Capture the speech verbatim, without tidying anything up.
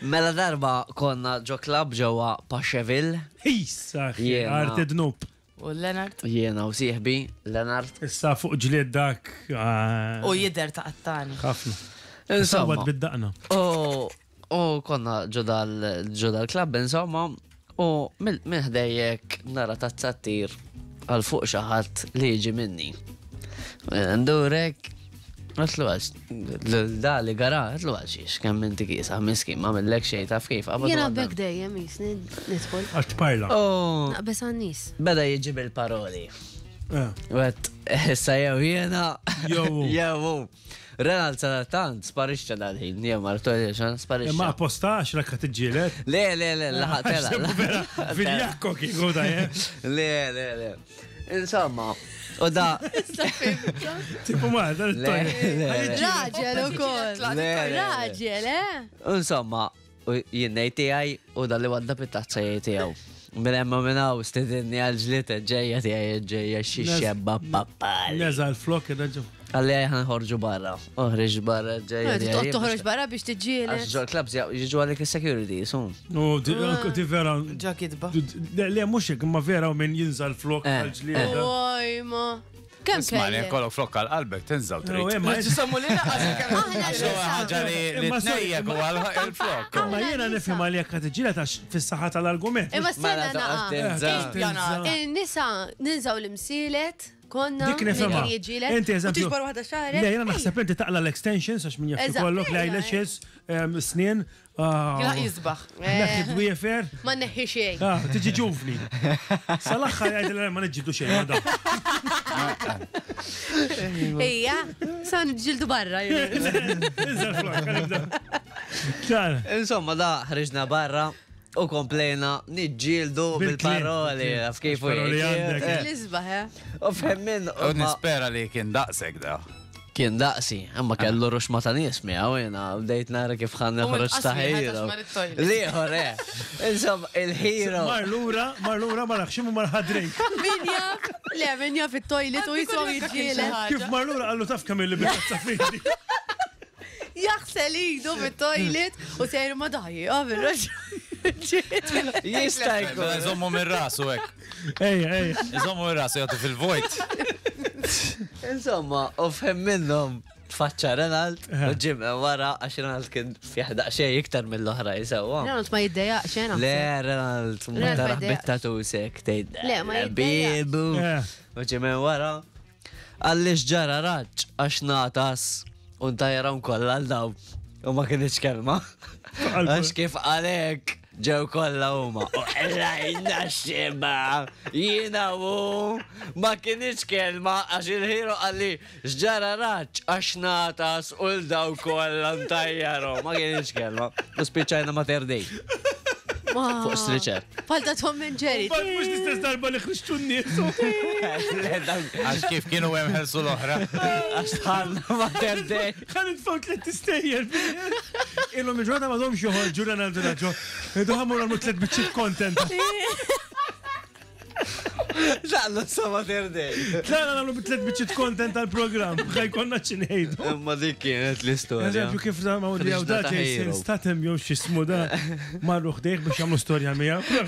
Mela darba konna ġo club ġewwa Paceville. Issa, Jiena. arti dnub. U Leonard. Jiena u sieħbi, Leonard. Issa fuq ġlied dak. ah, U jider ta' qattani. Ħafna. Insomma. Sawat bid-daqna. U u konna ġo dal- ġo dal-club, insomma, u minn minn ħdejjek nara tazzattir għal fuq xi ħadd li jiġi minni. Ndurek, għatlu għax, da li gara, għatlu għax xiex, kemm inti kisa, miskin, ma millek xejn taf kif. qabad Jena u għadda. bekk dejjem jisni nidħol. Għax tparla. U Naqbes għan-nies. beda jiġi bil-paroli. Eh. Għet, issa jew jiena. Jew. Jew. Renald sadattant sparixxa dal-ħin, jew martu xan Ma sparixxa. appostax rakka tiġġieled. Le, le, le, laħaq tela. Viljakko kieku da, eh. Le, le, le. Insomma, u da. Tipo ma, dan Le, il-toilet. le, le. Raġel ukoll. Le, le, le. Raġel, eh? Insomma, u jien ngħid tiegħi u dalli wadda bit-tazza jgħid tiegħu. Minn hemm u minn hawn stedinni għal ġlied ġejja tiegħi ġejja xi xebba pappali. Neza l-flok, raġu. Għalli ħan ħorġu barra. Oħriġ barra ġejja. Toqgħod toħroġ barra biex tiġġieled. Għax ġol clubs jiġu għalik il-security, sum. No, di di vera. Ġa kitba. Le, le, mux hekk, ma vera u minn jinża l-flok Eh, għal-ġlieda. Oj, ma. Kemm Isma' li kellek? kollok flok għal-qalbek tinżaw No, trid. eh, ma Ġisomu li naqas. Aħna nisa. Ħaġa li li Imma sorry, tnejjek u għal-flok. Ma jiena nifhem għalli jekk qed tiġġieled għax fis-saħħa tal-argument. Imma stenna Mela naqa. toqgħod tinża. Il-nisa ninżaw l-imsielet, konna. Dik nifhimha. min jiġġieled. Inti U eżempju. tiġbor waħda xahrek. Le, jiena naħseb inti taqla l-extensions għax min jaf Eżatt. ikollok Ejja, l-eyelashes, em, snien. ah, Kien jisbaħ. Neħħi dwiefer. Ma neħħi xejn. Ah, tiġi ġuvni. Sal-aħħar jgħid ma niġġieldu xejn ma da. Ejja, sa nġildu barra. Inża l-flok, ħanibda. Ċara. Insomma, da ħriġna barra u komplejna niġġieldu Bil-kliem, bil-paroli. bil-kliem. Għaf kif u Paroli jgħid. għandek. Eh, L-isbaħ, eh? U fhem minn. U nispera li kien daqsek da. Kien daqsi, imma kellu ruxma ta' nies miegħu jiena bdejt nara kif ħan U noħroġ ta' mill-qasmi, ħa hero. tax mar it-toilet. Liħor, eh. Insomma, il-hero. Mar lura, mar lura, mar ħximu mar ħadrejk. Min jaf, le, min jaf it-toilet u jiswa jiġġieled. Kif mar lura qallu taf kemm illi bil-tazza fidi. Jaħsel idu fit-toilet u sejru ma daħi, għaf il-raġel. Jista' jkun. Iżommu minn rasu hekk. Ejja, ejja. Iżommu minn rasu jagħtu fil-vojt. Insomma, u fhem minnhom tfaċċa Renald u ġim wara għax Renald kien fih daqsxejn iktar mill-oħra jisewwa. Renald ma jiddejjaq xena. Le, Renald, ma Renald ma taraħ jiddejjaqx. bit-tatusek, tgħid. Le, ma jiddejjaqx. Bibu. Eh. U ġim wara. Għalli xġara raġ, għax natas, u ntajram kollha għal daw. U ma kienx kelma. Għax kif għalek ġew kollha huma. U ħlajna xeba, jiena u ma kienx kelma għax il-ħiro għalli xġara raġ għax natas u l-daw kollha ntajjaru. Ma kienx kelma. U spiċċajna ma terdej. Fuq striċer. Falta Tom and Jerry. Bad mux l-istess darba li ħriġtu n-nies. Għax kif kienu hemm ħelsu l-oħra. Għax tħallna ma terdej. Ħan nitfaw tliet istejjer. Illum il-ġurnata ma domx joħorġu Ronaldo Raġo. Idu ħamur għamlu tliet biċċiet content. Tlaqna sa ma terdej. Tlaqna nagħmlu tliet biċċiet content tal-programm. Ħaj konna ċinejdu. Imma dik kienet l-istorja. Eżempju kif da ma jew da Ħriġna ta' Jason hero. Statham jew x'ismu da marru ħdejh biex jagħmlu storja miegħu.